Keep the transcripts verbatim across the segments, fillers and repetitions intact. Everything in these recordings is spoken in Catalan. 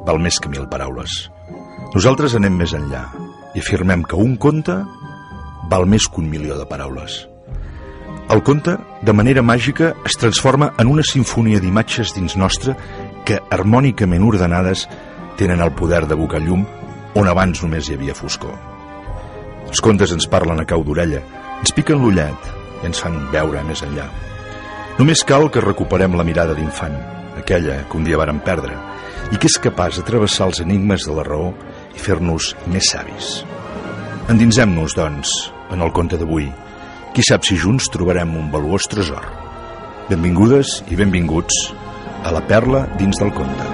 val més que mil paraules. Nosaltres anem més enllà i afirmem que un conte val més que un milió de paraules. El conte, de manera màgica, es transforma en una sinfonia d'imatges dins nostre que, harmònicament ordenades, tenen el poder d'abocar llum on abans només hi havia foscor. Els contes ens parlen a cau d'orella, ens piquen l'ullet i ens fan veure més enllà. Només cal que recuperem la mirada d'infant, aquella que un dia vàrem perdre, i que és capaç de travessar els enigmes de la raó i fer-nos més savis. Endinsem-nos, doncs, en el conte d'avui. Qui sap si junts trobarem un valuós tresor. Benvingudes i benvinguts a La perla dins del conte.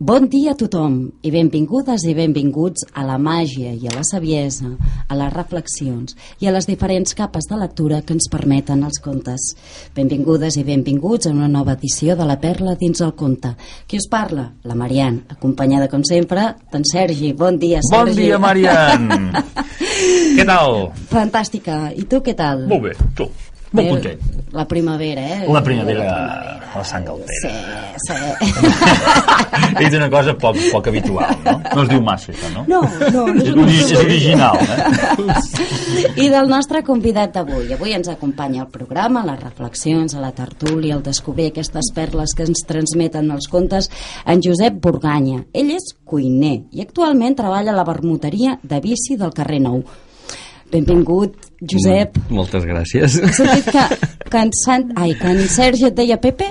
Bon dia a tothom i benvingudes i benvinguts a la màgia i a la saviesa, a les reflexions i a les diferents capes de lectura que ens permeten els contes. Benvingudes i benvinguts a una nova edició de La perla dins el conte. Qui us parla? La Marian, acompanyada com sempre d'en Sergi. Bon dia, Sergi. Bon dia, Marian. Què tal? Fantàstica. I tu què tal? Molt bé, tu. Molt content. La primavera, eh? La primavera, la, la sang altera. Sí, sí. He dit una cosa poc, poc habitual, no? No es diu massa, això, no? No, no. no és, és, és original, eh? I del nostre convidat d'avui. Avui ens acompanya al programa, a les reflexions, a la tertúlia, al descobrir aquestes perles que ens transmeten els contes, en Josep Burganya. Ell és cuiner i actualment treballa a la vermuteria de Vici del carrer Nou. Benvingut, Josep. Mm, moltes gràcies. Has sentit que, que, en Sant... Ai, que en Sergi et deia Pepe?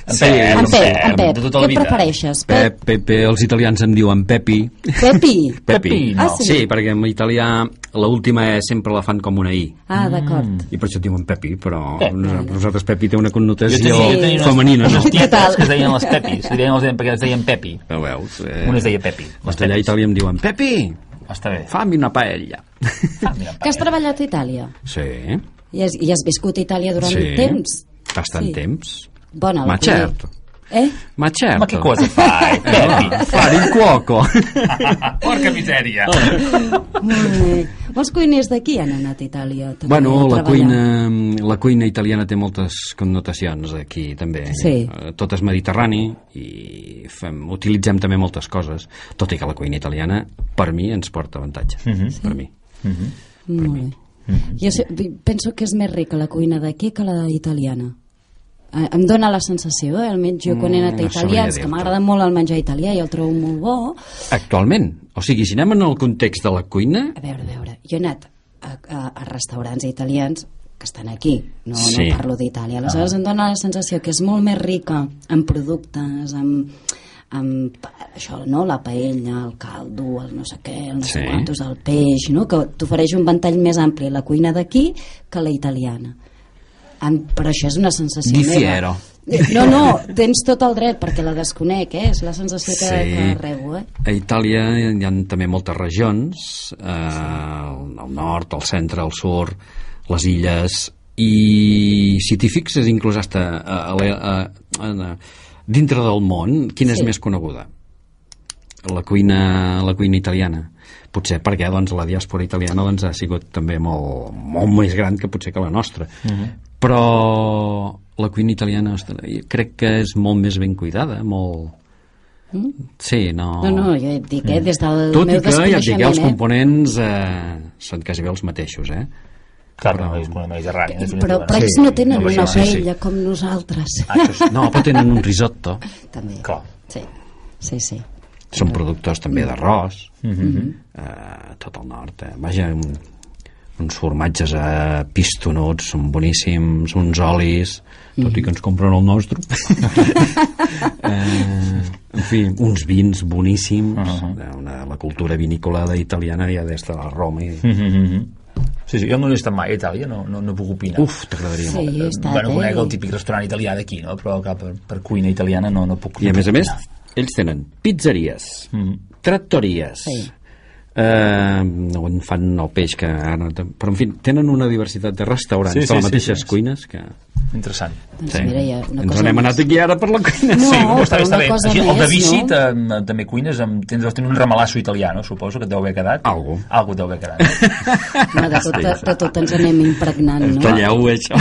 En Pep, en Pep, en Pep. De tota la Què vida. prefereixes? Pep, Pepe, els italians em diuen Pepi. Pepi? Pepi. Ah, sí? Sí, perquè en italià l'última E sempre la fan com una I. Ah, d'acord. I per això et diuen Pepi, però Pep. nosaltres Pepi té una connotació Jo tenia, jo tenia unes, femenina, no? unes Què tal? tietes que es deien les Pepis, es deien, els deien, perquè es deien Pepi. Ho veus? Eh, Un es deia Pepi. els d'allà a Itàlia em diuen Pepi, Està bé. fammi una paella. Ah, mira, Que has treballat a Itàlia? Sí, I has, i has viscut a Itàlia durant sí. temps? Bastant Sí. temps. Bona, Ma la cuina. certo. Eh? Ma certo. Ma che cosa fai, Pepi? Fare il cuoco. Porca misèria. Molt bé. Molts cuiners d'aquí han anat a Itàlia també, Bueno, a la treballar. cuina, la cuina italiana té moltes connotacions aquí també. Sí. Eh, Tot és mediterrani i fem, utilitzem també moltes coses, tot i que la cuina italiana per mi ens porta avantatge. Mhm. Per mi. Molt bé. Jo sé, penso que és més rica la cuina d'aquí que la italiana. Eh, Em dóna la sensació, eh? almenys jo quan he anat a Mm, no Itàlia, sabria és que dir-te. m'agrada molt el menjar italià i el trobo molt bo. Actualment, o sigui, si anem en el context de la cuina, A veure, a veure, jo he anat a, a, a restaurants italians que estan aquí, no, Sí. no parlo d'Itàlia. Aleshores em dóna la sensació que és molt més rica en productes, en, en això, no? La paella, el caldo, el no sé què, el no sé Sí. quantos, el peix, no? Que t'ofereix un ventall més ampli la cuina d'aquí que la italiana. En, però això és una sensació Difiero. meva. No, no, tens tot el dret perquè la desconec, eh? És la sensació que, Sí. que rebo, eh? a Itàlia hi ha també moltes regions, eh, al nord, al centre, al sud, les illes, i si t'hi fixes inclús hasta a, a, a, a, a, dintre del món, quina Sí. és més coneguda? La cuina, la cuina italiana. Potser perquè doncs, la diàspora italiana doncs, ha sigut també molt, molt més gran que potser que la nostra. Mhm. Però la cuina italiana ostres, jo crec que és molt més ben cuidada, molt... Sí, no... No, no, jo et dic, eh, des del Tot meu i que, ja et dic, desconeixement, els eh? components eh, són quasi bé els mateixos, eh? Clar, no és una mediterrània. Però, però ells no tenen no, una això sí. paella com nosaltres. Ah, això sí. No, però tenen un risotto. També. Clar. Sí, sí, sí. Són productors també d'arròs, Mhm. eh, tot el nord. Eh? Vaja, un, uns formatges eh, pistonuts, són boníssims, uns olis, tot i que ens compren el nostre. eh, en fi, uns vins boníssims, Uh-huh. una, la cultura vinícola italiana ja des de la Roma. I... Mhm. Sí, sí, jo no he estat mai a Itàlia, no, no, no puc opinar. Uf, t'agradaria Sí, molt. he estat, bueno, eh? conec el típic restaurant italià d'aquí, no? Però clar, per, per cuina italiana no, no puc I a no més a puc més, opinar. ells tenen pizzeries, Mhm. trattories, Sí. eh, on fan el peix que ara, però en fi, tenen una diversitat de restaurants Sí, de sí, les sí, mateixes sí. cuines que... Interessant. Doncs Sí. mira, ja una Ens cosa n'hem més. anat aquí ara per la cuina. No, Sí, però està bé, però està una bé. cosa Així, el de més, Vichy no? tam- també cuines amb, tens, tens un ramalasso italià, no? Suposo que et deu haver quedat. Algo. Algo et deu haver quedat. No, de, tot, de tot ens anem impregnant, no? Talleu això.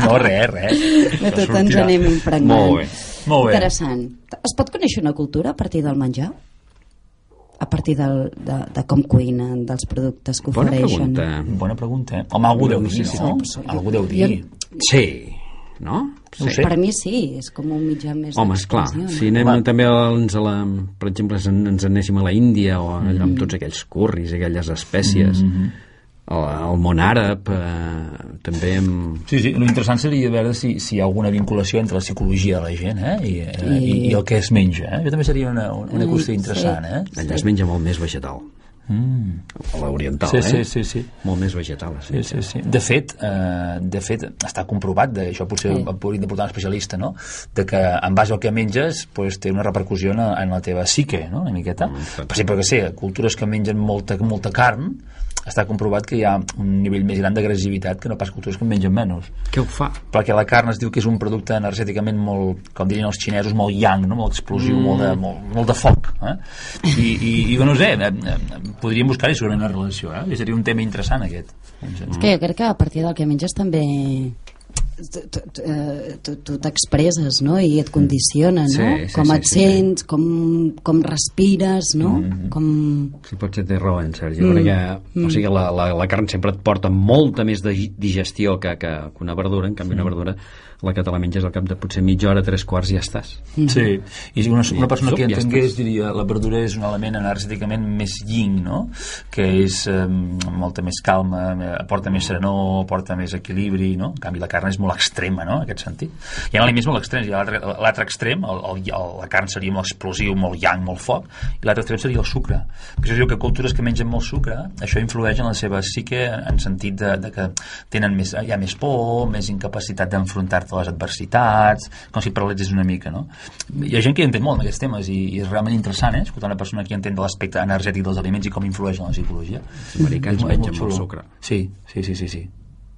No, res, res. De tot ens Sortirà. anem impregnant. Molt bé. Molt bé. Interessant. Es pot conèixer una cultura a partir del menjar? A partir del, de, de com cuinen, dels productes que Bona ofereixen? pregunta. Bona pregunta, eh? Home, algú deu No dir, sé si no? sí. Algú deu dir. Sí, no? No ho sé. Per mi sí, és com un mitjà més Home, esclar, d'expressió, si no? anem Home. també ens a la, per exemple, si ens anéssim a la Índia o allà amb tots aquells curris, aquelles espècies, el, el món àrab, eh, també amb... Sí, sí, l'interessant seria veure si, si hi ha alguna vinculació entre la psicologia de la gent eh? I, eh? I, i el que es menja. Eh? Això també seria una, una qüestió interessant. Eh? Allà es menja molt més vegetal. Mm. A l'oriental, Sí, eh? sí, sí, sí. Molt més vegetal, Sí, sí, sí. De fet, eh, de fet està comprovat, de, això potser Sí. sí. hauríem de portar un especialista, no? De que en base al que menges pues, té una repercussió en, en la teva psique, no? Una miqueta. Mm, per exemple, que sé, cultures que mengen molta, molta carn, està comprovat que hi ha un nivell més gran d'agressivitat que no pas cultures que en mengen menys. Què ho fa? Perquè la carn es diu que és un producte energèticament molt, com dirien els xinesos, molt yang, no? Molt explosiu, mm. molt, de, molt, molt de foc. Eh? I, i, i no sé, eh, eh, podríem buscar-hi segurament una relació, eh? I seria un tema interessant aquest. És que jo crec que a partir del que menges també tu- tu- tu- eh, tu tu t'expresses, no? I et condiciona, no? Sí, sí, com sí, et sí, sents, com, com respires, no? Com... Sí, potser té raó, en Sergi, mm. perquè o sigui, la, la, la carn sempre et porta molta més de digestió que, que, que una verdura, en canvi una verdura la que te la menges al cap de potser mitja hora, tres quarts i ja estàs. Sí, i si una, una persona Sup, que ja entengués estàs. diria la verdura és un element energèticament més yin, no? Que és eh, molta més calma, eh, aporta més serenor, aporta més equilibri, no? En canvi la carn és molt extrema, no? En aquest sentit. Hi ha aliments molt extrems, hi ha l'altre l'altre extrem, el, el, el, la carn seria molt explosiu, molt yang, molt foc, i l'altre extrem seria el sucre. Per això diu que cultures que mengen molt sucre, això influeix en la seva psique en sentit de, de que tenen més, hi ha més por, més incapacitat d'enfrontar-te a les adversitats, com si paralitzés una mica, no? Hi ha gent que hi entén molt en aquests temes i, i és realment interessant, eh? Escoltar una persona que entén de l'aspecte energètic dels aliments i com influeix en la psicologia. Els americans És mengen xulo. molt sucre. Sí, sí, sí, sí, sí.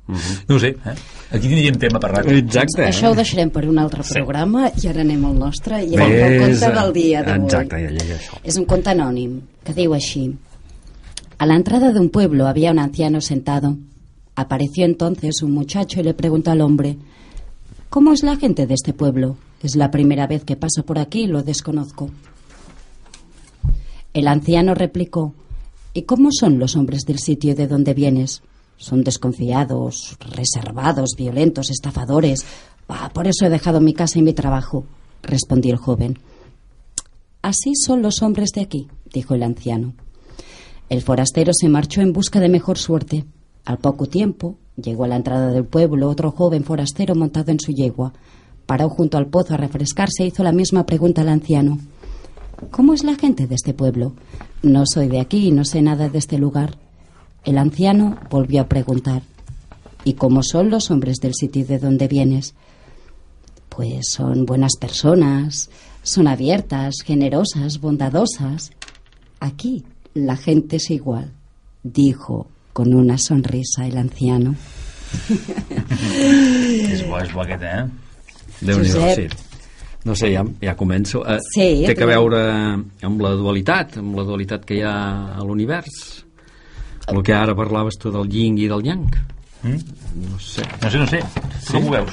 Uh -huh. No ho sé, eh? Aquí tindríem tema per rato. Exacte. Això ho deixarem per un altre programa i ara anem al nostre i Ves, el conte del dia d'avui. exacte, ja, ja, ja, això. Es un conte anònim que diu així: a la entrada de un pueblo había un anciano sentado. Apareció entonces un muchacho y le preguntó al hombre: ¿cómo es la gente de este pueblo? Es la primera vez que paso por aquí y lo desconozco. El anciano replicó: ¿y cómo son los hombres del sitio de donde vienes? Son desconfiados, reservados, violentos, estafadores. Ah, por eso he dejado mi casa y mi trabajo, respondió el joven. Así son los hombres de aquí, dijo el anciano. El forastero se marchó en busca de mejor suerte. Al poco tiempo, llegó a la entrada del pueblo otro joven forastero montado en su yegua. Paró junto al pozo a refrescarse e hizo la misma pregunta al anciano. ¿Cómo es la gente de este pueblo? No soy de aquí y no sé nada de este lugar. El anciano volvió a preguntar: ¿y cómo son los hombres del sitio de donde vienes? Pues son buenas personas, son abiertas, generosas, bondadosas. Aquí la gente es igual, dijo con una sonrisa el anciano. És bo, és bo aquest, eh? Déu-n'hi-do, Josep. sí. No sé, ja, ja començo. Eh, Sí, té que però- veure amb la dualitat, amb la dualitat que hi ha a l'univers. El que ara parlaves tu del yin i del yang. Mm? No sé. No sé, no sé. Tu com ho veus?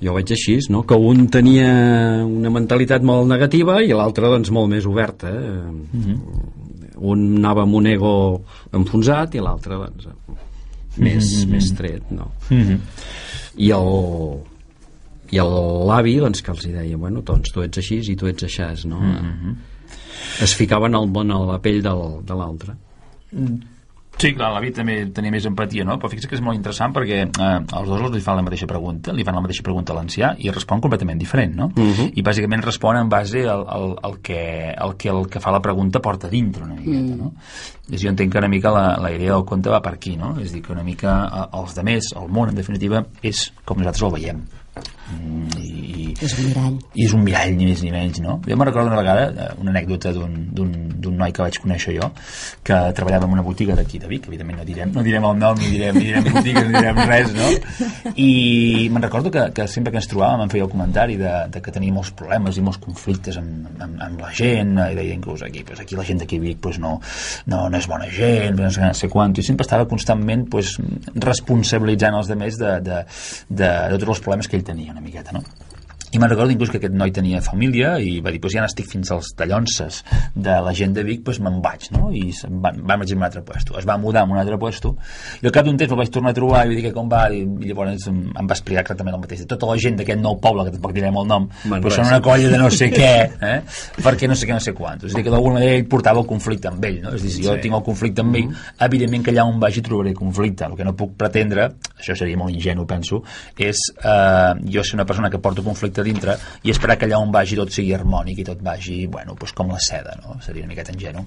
Jo ho veig així, no? Que un tenia una mentalitat molt negativa i l'altre, doncs, molt més oberta. Eh? Mm-hmm. Un anava amb un ego enfonsat i l'altre, doncs, més, mm-hmm. més tret, no? Mm-hmm. I el i l'avi, doncs, que els hi deia, bueno, doncs tu ets així i tu ets aixàs, no? Mm-hmm. Es ficaven al món a la pell del, de l'altre. Sí, clar, l'avi també tenia més empatia, no? Però fixa't que és molt interessant perquè eh, els dos li fan la mateixa pregunta, li fan la mateixa pregunta a l'ancià i respon completament diferent, no? Uh-huh. I bàsicament respon en base al, al, al, que, al que el que fa la pregunta porta dintre una miqueta, no? I jo entenc que una mica la, la idea del conte va per aquí, no? És a dir, que una mica eh, els demés, el món, en definitiva, és com nosaltres el veiem. Mm, i, És un mirall. I és un mirall, ni més ni menys, no? Jo me'n recordo una vegada, una anècdota d'un noi que vaig conèixer jo, que treballava en una botiga d'aquí de Vic, evidentment no direm, no direm el nom, ni direm, ni direm botigues, ni direm res, no? I me'n recordo que, que sempre que ens trobàvem em feia el comentari de, de que tenia molts problemes i molts conflictes amb, amb, amb la gent, i deia inclús aquí, pues aquí la gent d'aquí Vic pues no, no, no és bona gent, no sé, no sé quant, i sempre estava constantment pues, responsabilitzant els altres de, de, de, de tots els problemes que ell tenia una miqueta, no? I me'n recordo inclús que aquest noi tenia família i va dir, pues ja n'estic fins als tallonses de la gent de Vic, pues me'n vaig, no? I van, van a un altre puesto. Es va mudar a un altre puesto i al cap d'un temps el vaig tornar a trobar i vaig dir que com va, i, i llavors em, em va explicar exactament el mateix. Tota la gent d'aquest nou poble, que tampoc direm el nom, pues són una colla de no sé què, eh? Perquè no sé què, no sé quantos. És a dir, que d'alguna manera ell portava el conflicte amb ell, no? És a dir, si jo sí. tinc el conflicte amb ell, evidentment que allà on vagi trobaré conflicte. El que no puc pretendre, això seria molt ingenu, penso, és eh, jo ser una persona que porto conflicte dintre i esperar que allà on vagi tot sigui harmònic i tot vagi, bueno, pues com la seda, no? Seria una miqueta ingenu.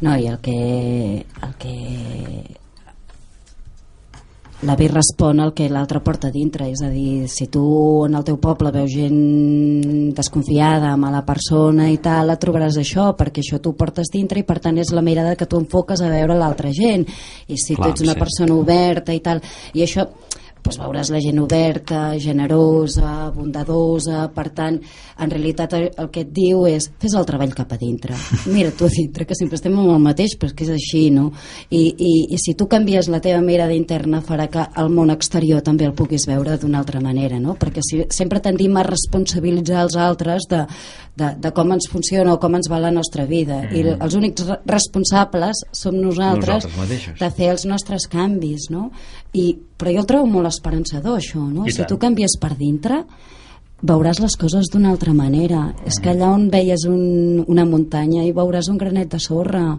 No, i el que el que l'avi respon al que l'altre porta dintre, és a dir, si tu en el teu poble veus gent desconfiada, mala persona i tal, et trobaràs això, perquè això tu portes dintre i per tant és la mirada que tu enfoques a veure l'altra gent, i si Clar, tu ets una sí. persona oberta i tal, i això doncs veuràs la gent oberta, generosa, bondadosa, per tant, en realitat el que et diu és fes el treball cap a dintre, mira tu a dintre, que sempre estem amb el mateix, però és que és així, no? I, i, i si tu canvies la teva mirada interna farà que el món exterior també el puguis veure d'una altra manera, no? Perquè si, sempre tendim a responsabilitzar els altres de, de, de com ens funciona o com ens va la nostra vida, mm. i els únics responsables som nosaltres, nosaltres de fer els nostres canvis, no? I, però jo el trobo molt esperançador, això, no? Si tu canvies per dintre veuràs les coses d'una altra manera. Mm. És que allà on veies un, una muntanya hi veuràs un granet de sorra,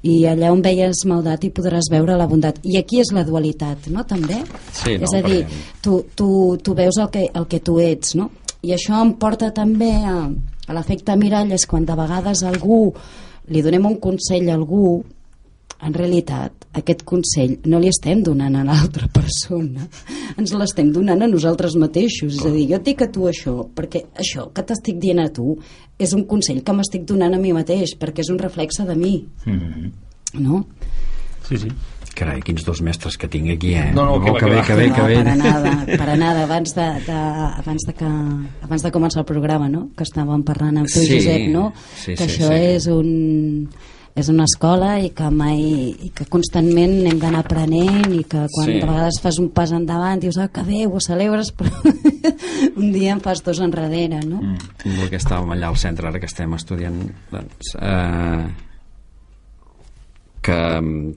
i allà on veies maldat hi podràs veure la bondat, i aquí és la dualitat, no? També sí, no, és a dir, tu, tu, tu veus el que, el que tu ets, no? I això em porta també a, a l'efecte mirall, és quan de vegades algú li donem un consell a algú, en realitat aquest consell no li estem donant a l'altra persona, ens l'estem donant a nosaltres mateixos. És a dir, jo et dic a tu això perquè això que t'estic dient a tu és un consell que m'estic donant a mi mateix, perquè és un reflexe de mi. Mm-hmm. No? Sí, sí. Carai, quins dos mestres que tinc aquí, eh? No, no, que, oh, que, bé, que bé, que bé. No, per nada, per nada. Abans de, de, abans de que abans de començar el programa, no? Que estàvem parlant amb tu, sí, Josep, no? Sí, que sí, això sí. és un és una escola i que mai i que constantment hem d'anar aprenent, i que quan sí. de vegades fas un pas endavant dius, ah, que bé, ho celebres, però un dia en fas dos enrere, no? Mm. El que estàvem allà al centre, ara que estem estudiant, doncs, eh, que,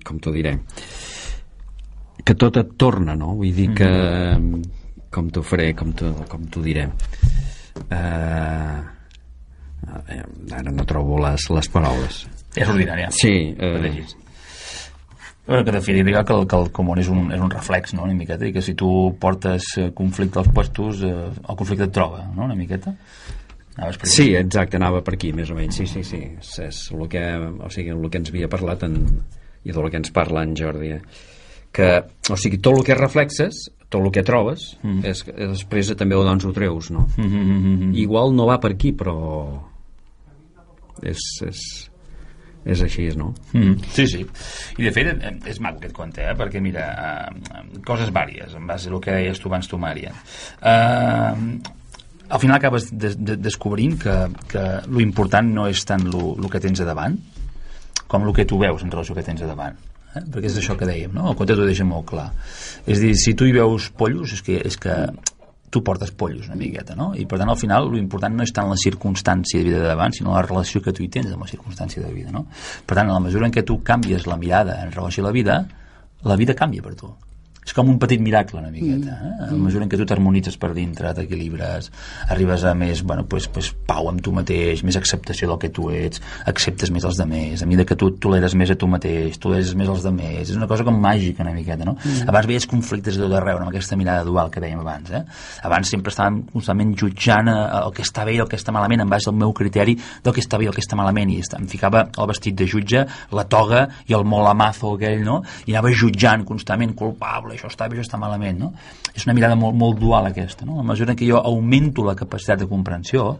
com t'ho diré, que tot et torna, no? Vull dir que, mm. com t'ho faré, com t'ho com t'ho diré, eh, ara no trobo les, les paraules. És ordinària. Sí. Eh... Bueno, que definiria que el, que el comú és un, és un reflex, no?, una miqueta, i que si tu portes conflicte als puestos, eh, el conflicte et troba, no?, una miqueta. Sí, exacte, anava per aquí, més o menys. Sí, sí, sí. És, és el que, o sigui, el que ens havia parlat en, i del que ens parla en Jordi. Que, o sigui, tot el que reflexes, tot el que trobes, mm. és, després també doncs ho treus, no? Mm -hmm. Igual no va per aquí, però és... és és així, no? Mm, sí, sí. I de fet és maco aquest conte, eh? Perquè mira, uh, coses vàries en base al que deies tu abans tu, Mària. Uh, al final acabes de, de, descobrint que, que lo important no és tant lo, lo que tens a davant com el que tu veus en relació al que tens a davant, eh? Perquè és això que dèiem, no? El conte t'ho deixa molt clar. És a dir, si tu hi veus pollos, és que, és que tu portes pollos una miqueta, no? I per tant al final l'important no és tant la circumstància de vida de davant, sinó la relació que tu hi tens amb la circumstància de vida, no? Per tant, en la mesura en què tu canvies la mirada en relació a la vida, la vida canvia per tu. És com un petit miracle una miqueta, eh? En la mesura en què tu t'harmonitzes per dintre, t'equilibres, arribes a més, bueno, pues, pues, pau amb tu mateix, més acceptació del que tu ets, acceptes més els demés, a mesura que tu toleres més a tu mateix, toleres més els demés, és una cosa com màgica una miqueta, no? Mm. Abans veies conflictes de tot arreu, amb aquesta mirada dual que dèiem abans, eh? Abans sempre estàvem constantment jutjant el que està bé i el que està malament en base al meu criteri del que està bé i el que està malament, i em ficava el vestit de jutge, la toga i el molamazo aquell, no? I anava jutjant constantment, culpable, això està bé, això està malament, no? És una mirada molt, molt dual aquesta, no? A mesura que jo augmento la capacitat de comprensió,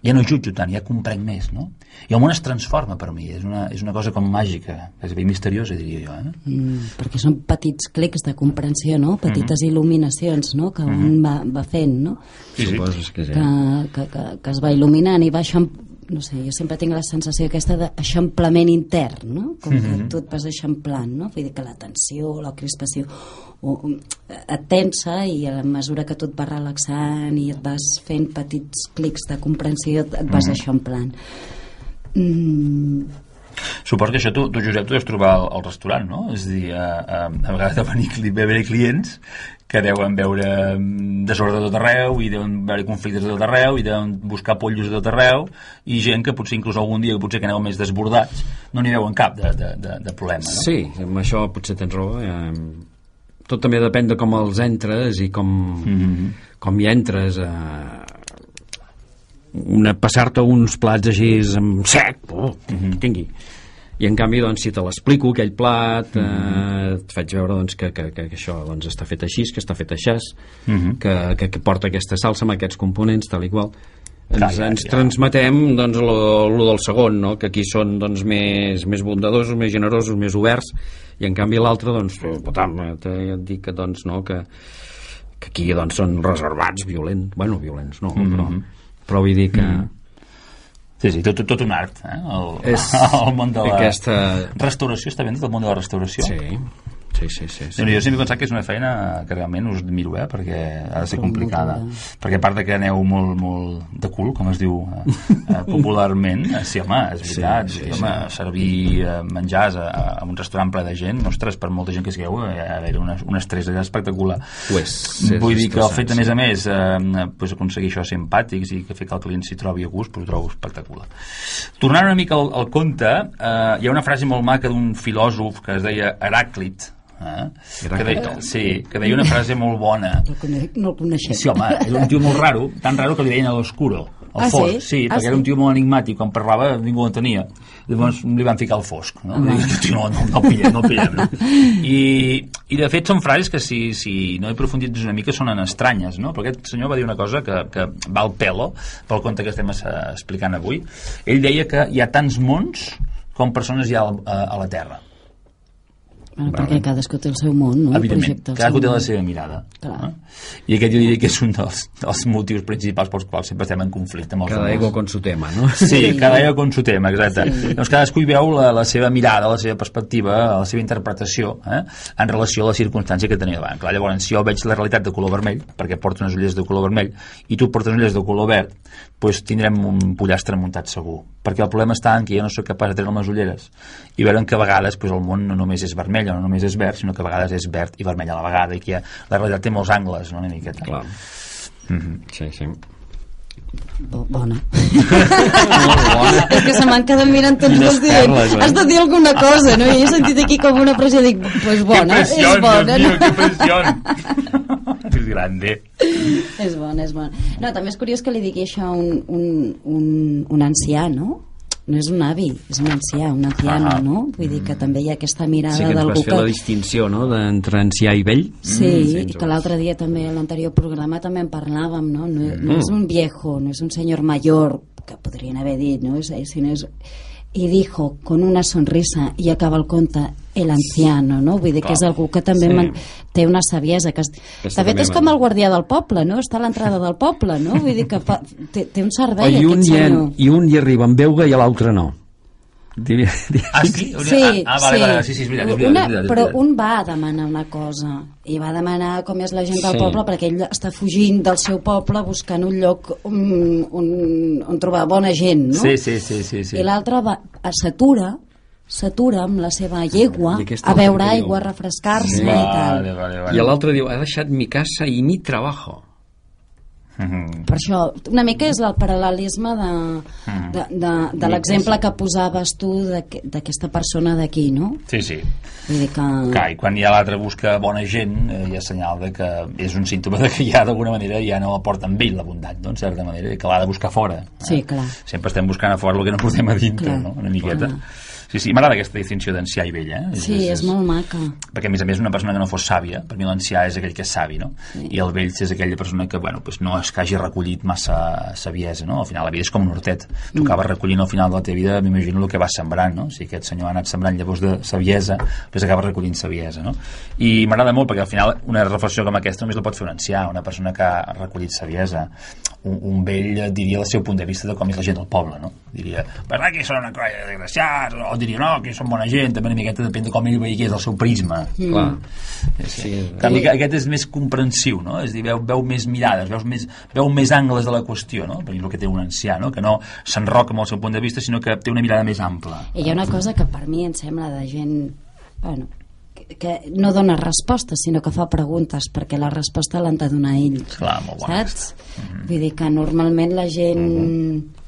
ja no jutjo tant, ja comprenc més, no? I el món es transforma per mi, és una, és una cosa com màgica, és ben misteriosa, diria jo, eh? Mm, perquè són petits clics de comprensió, no? Petites mm-hmm. il·luminacions, no? Que mm-hmm. un va, va fent, no? Sí, sí. Suposes que sí. Que, que, que, que es va il·luminant i va eixam... no sé, jo sempre tinc la sensació aquesta d'eixamplament intern, no? Com que mm-hmm. tu et vas eixamplant, no? Vull dir que la tensió, la crispació o, et tensa i a la mesura que tu et vas relaxant i et vas fent petits clics de comprensió et vas mm-hmm. eixamplant. Mm. Suposo que això tu, tu Josep, tu deus trobar al, al restaurant, no? És a dir, a, a, a vegades de venir, venir clients que deuen veure desordre de tot arreu i deuen veure conflictes de tot arreu i deuen buscar pollos de tot arreu i gent que potser inclús algun dia potser que aneu més desbordats no n'hi veuen cap de, de, de, de problema, no? Sí, amb això potser tens raó. Eh, tot també depèn de com els entres i com, mm-hmm. com hi entres a... Una, passar-te uns plats així amb sec, oh, mm-hmm. tingui. I en canvi, doncs, si te l'explico, aquell plat, mm-hmm. eh, et faig veure doncs, que, que, que això doncs, està fet així, que està fet així, mm-hmm. que, que, que porta aquesta salsa amb aquests components, tal i qual. Ens, Clar, ja, ens ja. transmetem doncs, lo, lo del segon, no? Que aquí són doncs, més, més bondadosos, més generosos, més oberts, i en canvi l'altre, doncs, potam, ja et dic que, doncs, no, que, que aquí doncs, són reservats, violents, bueno, violents, no, mm-hmm. però... però vull dir que... Mm. Sí, sí, tot, tot un art, eh? El, és el món de la aquesta... restauració, està ben dit, el món de la restauració? Sí, sí, sí, sí, sí. Jo sempre he pensat que és una feina que realment us admiro, eh? Perquè ha de ser complicada, perquè a part de que aneu molt, molt de cul, com es diu eh, popularment, sí, home, és veritat, sí, sí, home, sí. Servir eh, menjars a, a un restaurant ple de gent, ostres, per molta gent que sigueu, eh, ha d'haver un, un estrès espectacular. Pues, vull dir que el fet, a més a més, eh, pues, aconseguir això simpàtics i que fer que el client s'hi trobi a gust, pues, ho trobo espectacular. Tornant una mica al, al conte, eh, hi ha una frase molt maca d'un filòsof que es deia Heràclit, Eh? Que deia, sí, que deia una frase molt bona. No el coneixem. Sí, home, era un tio molt raro, tan raro que li deien a l'oscuro, al ah, fosc, sí, sí ah, perquè sí? Era un tio molt enigmàtic, quan parlava ningú l'entenia, llavors li van ficar al fosc, no? Ah. I, no, no, no el pillem, no el pillem, no? I, i de fet són frases que si, si no he profundit una mica sonen estranyes, no? Però aquest senyor va dir una cosa que, que va al pelo pel conte que estem explicant avui. Ell deia que hi ha tants mons com persones hi ha a, a la Terra. Bueno, perquè cadascú té el seu món, no? Evidentment, cadascú té la seva mirada. Eh? I aquest jo diria que és un dels, dels motius principals pels quals sempre estem en conflicte amb els cada ego con su tema, no? Sí, cada ego con su tema, exacte. Sí. Doncs cadascú hi veu la, la seva mirada, la seva perspectiva, la seva interpretació eh? En relació a la circumstància que tenia davant. Clar, llavors, si jo veig la realitat de color vermell, perquè porto unes ulleres de color vermell, i tu portes unes ulleres de color verd, doncs tindrem un pollastre muntat segur. Perquè el problema està en que jo no soc capaç de treure les ulleres i veure que a vegades doncs, el món no només és vermell o no només és verd, sinó que a vegades és verd i vermell a la vegada i que ha, la realitat té molts angles, no? Una miqueta. Clar. Mm-hmm. Sí, sí. Bona. És que se m'han quedat mirant tots dos dient eh? Has de dir alguna cosa, no? I he sentit aquí com una pressió, dic, pues bona, és bona, no? Que pressió, és grande. És bona, és bona. No, també és curiós que li digui això a un, un, un, un ancià, no? No és un avi, és un ancià, un anciano, ah, no? Vull dir que també hi ha aquesta mirada d'algú que... Sí, que ens vas fer que... la distinció, no?, d'entre ancià i vell. Sí, mm, i que l'altre dia també, a l'anterior programa també en parlàvem, no? No, mm. no és un viejo, no és un senyor mayor, que podrien haver dit, no? Sinó és... I dijo, con una sonrisa, i acaba el conte, el anciano, no? Vull dir que és algú que també sí. man... té una saviesa. Que... De fet, és com el guardià del poble, no? Està a l'entrada del poble, no? Vull dir que fa... té, té un servei, oh, aquest senyor. I un hi arriba amb veuga i l'altre no. Diria, diria. Ah, sí? Sí, ah, vale, sí. Vale, sí, sí, és veritat, és veritat, una, és veritat, és però veritat. un va demanar una cosa i va demanar com és la gent del sí. poble, perquè ell està fugint del seu poble buscant un lloc on, on, on trobar bona gent, no? Sí, sí, sí, sí, sí. I l'altre s'atura s'atura amb la seva llegua a beure aigua, a refrescar-se sí. i tal. Vale, vale, vale. I l'altre diu, ha deixat mi casa i mi trabajo. Mm-hmm. Per això, una mica és el paral·lelisme de, mm. de, de, de l'exemple que posaves tu d'aquesta persona d'aquí, no? Sí, sí. Vull dir que... Clar, i quan hi ha l'altre busca bona gent, eh, hi ha senyal de que és un símptoma de que ja d'alguna manera ja no aporta amb ell la bondat, no? En certa manera, que l'ha de buscar fora. Eh? Sí, clar. Sempre estem buscant a fora el que no portem a dintre, clar, no? Una miqueta. Clar. Sí, sí, m'agrada aquesta distinció d'ancià i vell, eh? Sí, és, és, és molt maca. Perquè, a més a més, una persona que no fos sàvia, per mi l'ancià és aquell que és savi, no? Sí. I el vell és aquella persona que, bueno, pues no és que hagi recollit massa saviesa, no? Al final la vida és com un hortet. Tu mm. acabes recollint al final de la teva vida, m'imagino el que vas sembrant, no? Si aquest senyor ha anat sembrant llavors de saviesa, doncs acabes recollint saviesa, no? I m'agrada molt perquè al final una reflexió com aquesta només la pot fer un ancià, una persona que ha recollit saviesa. Un, un vell diria el seu punt de vista de com és la gent del poble, no? Diria, però aquí són una colla de desgraciats, o diria, no, que són bona gent, també una miqueta depèn de com ell veia que és el seu prisma. Mm. Clar. Sí, sí. En canvi, aquest és més comprensiu, no? És a dir, veu, veu més mirades, veus més, veu més angles de la qüestió, no? Per el que té un ancià, no? Que no s'enroca amb el seu punt de vista, sinó que té una mirada més ampla. I hi ha una cosa que per mi em sembla de gent, bueno, que, que no dona respostes, sinó que fa preguntes, perquè la resposta l'han de donar ell. Clar, molt bona. Saps? Mm-hmm. Vull dir que normalment la gent... Mm-hmm.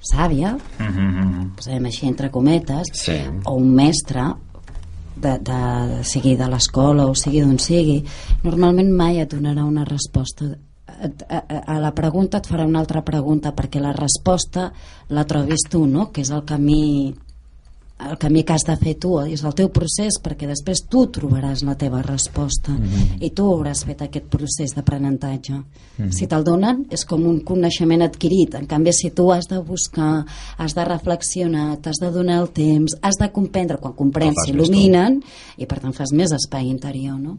sàvia, mm-hmm. posem així entre cometes, sí. o un mestre, de, de, sigui de l'escola o sigui d'on sigui, normalment mai et donarà una resposta. A, a, a la pregunta et farà una altra pregunta, perquè la resposta la trobis tu, no? Que és el camí el camí que has de fer tu, és el teu procés, perquè després tu trobaràs la teva resposta, mm-hmm. i tu hauràs fet aquest procés d'aprenentatge. Mm-hmm. Si te'l donen és com un coneixement adquirit, en canvi si tu has de buscar, has de reflexionar, t'has de donar el temps, has de comprendre, quan comprens s'il·luminen i per tant fas més espai interior, no?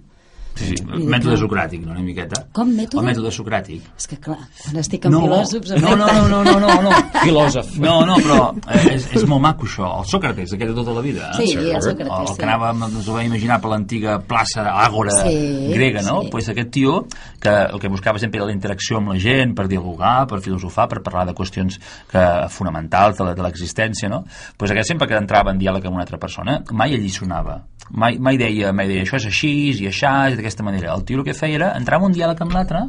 Sí, sí, mètode socràtic, no, una miqueta. Com mètode? El mètode socràtic. És que clar, quan estic amb no, filòsofs... No, no, no, no, no, no, no. Filòsof. No, no, però és, és molt maco això. El Sòcrates, aquest de tota la vida. Sí, el Sòcrates, el que anàvem, ens ho vam imaginar per l'antiga plaça Àgora sí, grega, no? Sí. Pues aquest tio, que el que buscava sempre era la interacció amb la gent, per dialogar, per filosofar, per parlar de qüestions que, fonamentals de l'existència, no? Pues aquest sempre que entrava en diàleg amb una altra persona, mai alliçonava. Mai, mai, deia, mai deia això és així i aixà, és d'aquesta manera. El tio el que feia era entrar en un diàleg amb l'altre,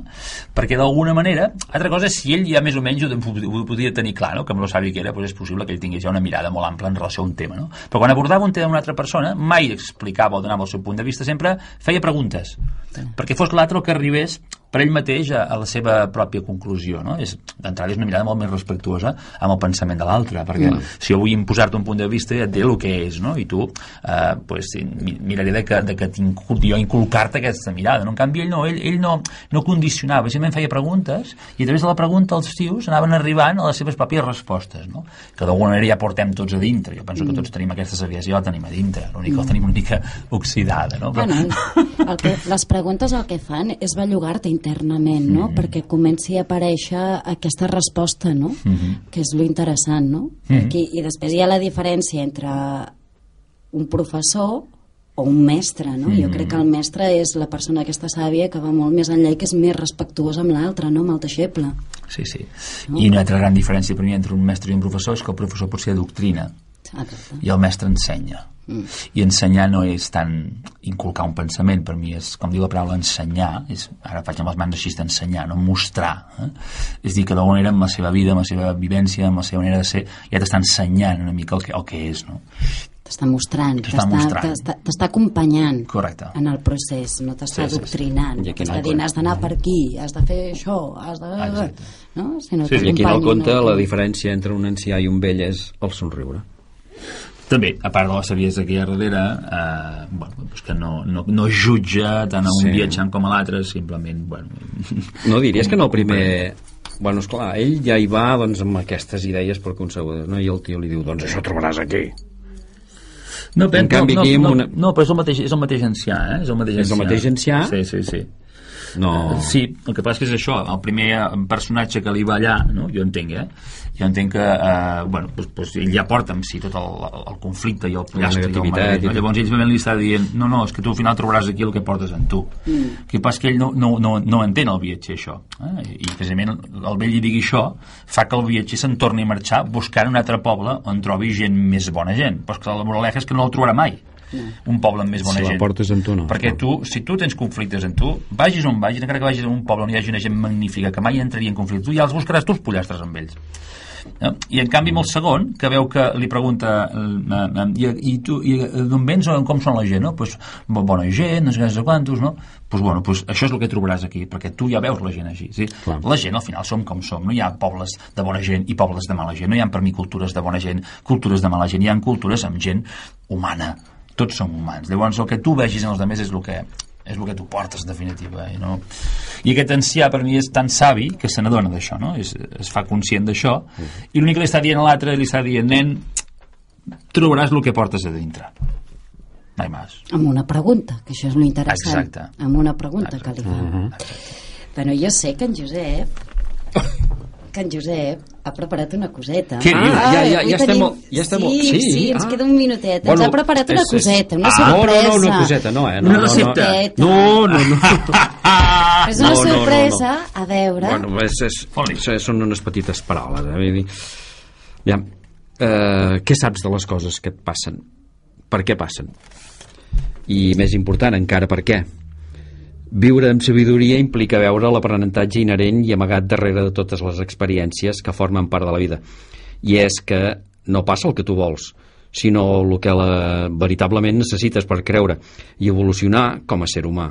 perquè d'alguna manera, altra cosa, si ell ja més o menys ho, ho podia tenir clar, no? Que amb lo savi que era, doncs és possible que ell tingués ja una mirada molt ampla en relació a un tema, no? Però quan abordava un tema amb una altra persona, mai explicava o donava el seu punt de vista, sempre feia preguntes, perquè fos l'altre el que arribés per ell mateix a, a la seva pròpia conclusió, no? És, d'entrada és una mirada molt més respectuosa amb el pensament de l'altre, perquè mm. si jo vull imposar-te un punt de vista ja et diré el que és, no? I tu eh, pues, miraré de que, de que jo inculcar-te aquesta mirada, no? En canvi ell no, ell, ell no, no condicionava, simplement feia preguntes i a través de la pregunta els tios anaven arribant a les seves pròpies respostes, no? Que d'alguna manera ja portem tots a dintre, jo penso mm. que tots tenim aquesta saviesa, ja la tenim a dintre, l'únic que la tenim una mica oxidada, no? Però... Bueno, el que, les preguntes el que fan és bellugar-te internament, no? Mm-hmm. Perquè comenci a aparèixer aquesta resposta, no? Mm-hmm. Que és lo interessant, no? Mm-hmm. Aquí, i després hi ha la diferència entre un professor o un mestre, no? Mm-hmm. Jo crec que el mestre és la persona aquesta sàvia que va molt més enllà i que és més respectuosa amb l'altre, no? Amb el deixeble. Sí, sí. No? I una altra gran diferència per mi entre un mestre i un professor és que el professor pot ser doctrina. Exacte. I el mestre ensenya. Mm. I ensenyar no és tant inculcar un pensament, per mi és, com diu la paraula, ensenyar, és, ara faig amb les mans així d'ensenyar, no mostrar, eh? És dir que d'alguna manera amb la seva vida, amb la seva vivència, amb la seva manera de ser, ja t'està ensenyant una mica el que, el que és, no? T'està mostrant, t'està acompanyant. Correcte. En el procés, no t'està sí, sí, adoctrinant, sí. T'està dient has d'anar per aquí, has de fer això, has de... Exacte. No? Sinó sí, i aquí en el conte la diferència entre un ancià i un vell és el somriure. També, a part de la saviesa que hi ha darrere, eh, bueno, doncs que no, no, no jutja tant a un sí. viatjant com a l'altre, simplement, bueno... No diries que no, el primer... Bueno, esclar, ell ja hi va doncs, amb aquestes idees preconcebudes, no? I el tio li diu, doncs això trobaràs aquí. No, en canvi, no, aquí no, una... no, però és el mateix, és el mateix ancià, eh? És el mateix ancià. És el mateix ancià? Sí, sí, sí. No. Sí, el que passa que és això, el primer personatge que li va allà, no? Jo entenc, eh? Jo entenc que, eh, bueno, pues, pues, ell ja porta amb si tot el, el conflicte i el pollastre i el marès, no? Llavors ell simplement li està dient, no, no, és que tu al final trobaràs aquí el que portes en tu. Mm. El que passa que ell no, no, no, no entén el viatger, això. Eh? I precisament el vell li digui això fa que el viatger se'n torni a marxar buscant un altre poble on trobi gent més bona gent. Però és que la moraleja és que no el trobarà mai. un poble amb més bona si gent. la portes amb tu, no. Perquè tu, si tu tens conflictes amb tu, vagis on vagis, encara que vagis a un poble on hi hagi una gent magnífica que mai entraria en conflicte, tu ja els buscaràs tu els pollastres amb ells. No? I en canvi amb el segon, que veu que li pregunta uh, i, i tu i d'on vens o com són la gent, no? Pues, bona gent, no sé què, quantos, no? Pues, bueno, pues, això és el que trobaràs aquí, perquè tu ja veus la gent així, sí? La gent al final som com som, no hi ha pobles de bona gent i pobles de mala gent, no hi ha per mi cultures de bona gent, cultures de mala gent, hi ha cultures amb gent humana, tots som humans. Llavors el que tu vegis en els altres és el que és el que tu portes, en definitiva. I, no? I aquest ancià, per mi, és tan savi que se n'adona d'això, no? Es, es fa conscient d'això, i l'únic que li està dient a l'altre, li està dient, nen, trobaràs el que portes a dintre. Mai més. Amb una pregunta, que això és l'interessant. Exacte. Amb una pregunta Exacte. que li fa. Uh-huh. Bueno, jo sé que en Josep que en Josep ha preparat una coseta. Què dius? Ah, ja, ja, ja estem... tenim... Ja estem... Sí, sí, sí, ens ah. queda un minutet. Bueno, ens ha preparat una és, coseta, una ah, sorpresa. No, no, no, una coseta, no, eh? No, Una no, recepta. No, no, no. És una No, no, no, sorpresa, no. a veure... Bueno, és, és, Foli. és, són unes petites paraules, eh? Vull dir, ja, eh, què saps de les coses que et passen? Per què passen? I més important encara, per què? Viure amb sabidoria implica veure l'aprenentatge inherent i amagat darrere de totes les experiències que formen part de la vida. I és que no passa el que tu vols, sinó el que la, veritablement necessites per creure i evolucionar com a ser humà.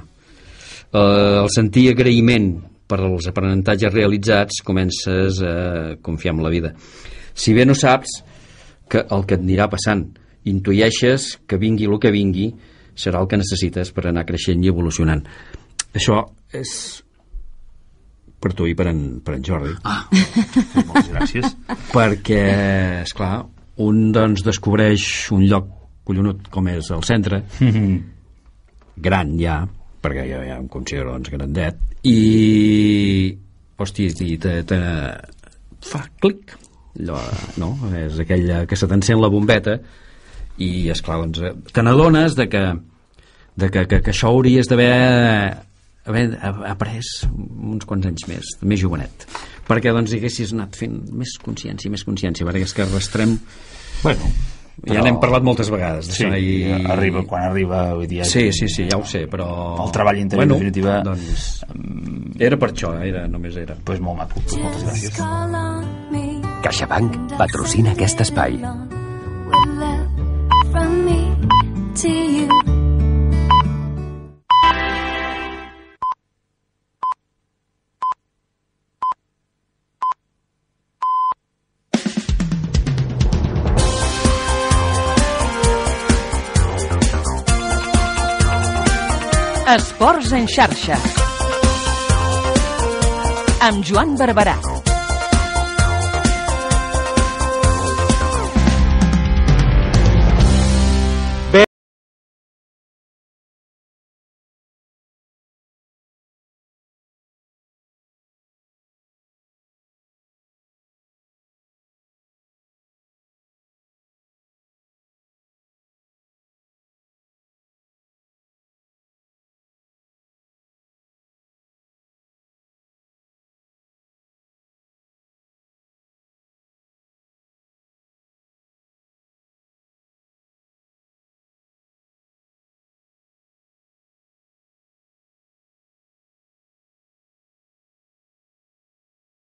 Eh, el sentir agraïment per als aprenentatges realitzats comences a confiar en la vida. Si bé no saps que el que et anirà passant, intueixes que vingui el que vingui, serà el que necessites per anar creixent i evolucionant. Això és per tu i per en, per en Jordi. Ah, moltes gràcies. Perquè, esclar, un doncs descobreix un lloc collonut com és el centre, gran ja, perquè jo ja em considero doncs grandet, i hosti, i te, te fa clic, allò, no? És aquella que se t'encén la bombeta i, esclar, doncs te n'adones de que, de que, que, que això hauries d'haver haver après uns quants anys més, més jovenet, perquè doncs haguessis anat fent més consciència, més consciència, perquè és que arrastrem, Bueno, ja n'hem parlat moltes vegades sí, i... arriba quan arriba, vull dir, sí, sí, sí, ja ho sé, però el treball interior, bueno, en definitiva, doncs, era per això, era, només era pues molt maco, pues moltes gràcies. CaixaBank patrocina aquest espai. Esports en xarxa amb Joan Barberà.